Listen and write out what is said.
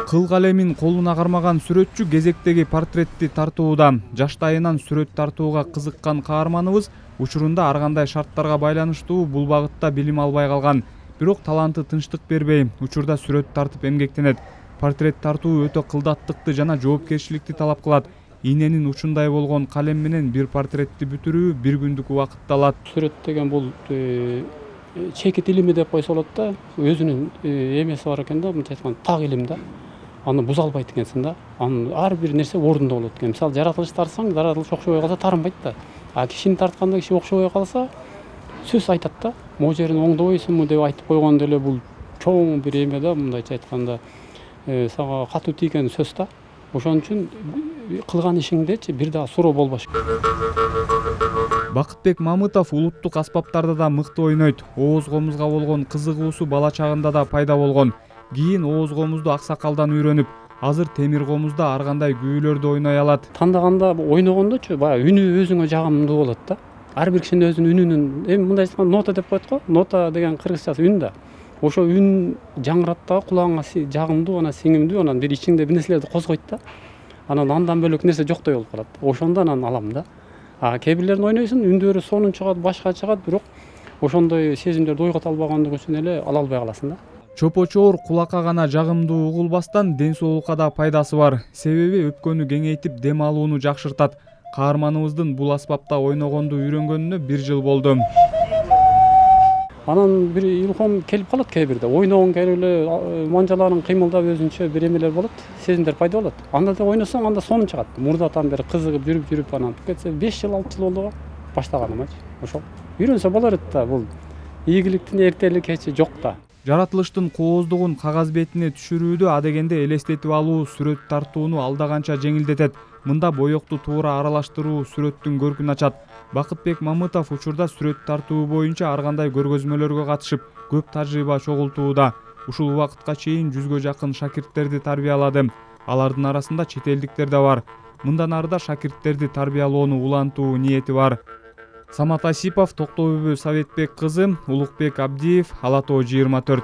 Кыл калемин колуна кармаган сүрөтчү кезектеги портретти тартууда. Жаштайынан сүрөт тартууга кызыккан каарманыбыз учурунда ар кандай шарттарга байланыштуу бул багытта билим албай калган. Бирок таланты тынчтык бербей, учурда сүрөт тартып эмгектенет. Портрет тартуу өтө кылдаттыкты жана жоопкерчиликти талап кылат. Ийненин учундай болгон калем менен бир портретти бүтүрүү бир күндүк убакытты алат. Сүрөт деген бул чекит илими деп койсо болот да. Өзүнүн эмеси бар экен да, мынча айтканда так илим да. Аны буза албайт экенсиң да. Анын ар бир нерсе ордунда болот экен. Мисалы жаратылышты тартсаң, жаратылыш окшобой калса тарынбайт да. А кишини тартканда киши окшобой калса сөз айтат да. Могу жерин оңдобойсуңбу деп айтып койгондо эле бул чоң бир эме да, мындайча айтканда сага катуу тийген сөз да. Ошон үчүн кылган ишиңдечи бир дагы суроо болбош. Бакытбек Мамытов улуттук аспаптарда да мыкты ойнойт. Ооз комузга болгон кызыгуусу бала чагында да пайда болгон. Кийин ооз комузду аксакалдан үйрөнүп, азыр темир комузда ар кандай күүлөрдү ойной алат. Тандаганда ойногондочу баягы үнү өзүңө жагымдуу болот да. Ар бир кишинин өзүнүн үнүнүн, эми мындай айтканда нота деп коет го. Нота деген кыргызчасы үн да. Ошо үн жаңырат да, кулагыңа жагымдуу, анан сиңимдүү, анан бир ичиңде бир нерселерди козгойт да. Андан бөлөк нерсе жоктой болуп калат. Ошондо анан алам да. Кээ бирлерин ойнойсуң, үндөрү сонун чыгат, башка чыгат, бирок ошондой сезимдерди ойгото албагандыгы үчүн эле ала албай каласың да. Чопочоор кулакка гана жагымдуу угулбастан ден соолукка да пайдасы бар. Себеби өпкөнү кеңейтип, дем алууну жакшыртат. Каарманыбыздын бул аспапта ойногонду үйрөнгөнүнө 1 жыл болду. Анан бир илхом келип калат кээ бирде. Ойногон келип эле манжаларын кыймылдап өзүнчө бир эмелер болот, сезимдер пайда болот. Анда да ойносоң, анда сонун чыгат. Мурдатан бери кызыгып жүрүп анан кетсе 5 жыл 6 жыл болду баштаганымачы. Ошол. Үйрөнсө болор да, бул ийгиликтин эртели кечи жок да. Жаратылыштын кооздугун кагаз бетине түшүрүүдө адегенде элестетип алуу сүрөт тартууну алда жеңилдетет. Мында боёкту туура аралаштыруу сүрөттүн көркүн ачат. Бакытбек Мамытов учурда сүрөт тартуу боюнча ар кандай көргөзмөлөргө катышып, көп тажрыйба чогултууда. Ушул убакытка чейин 100гө жакын шакирттерди тарбиялады. Алардын арасында чет элдиктер да бар. Мындан ары да шакирттерди тарбиялоону улантуу ниети бар. Самат Асипов, Токтобүбү Советбек кызы, Улукбек Абдиев, Ала Тоо 24.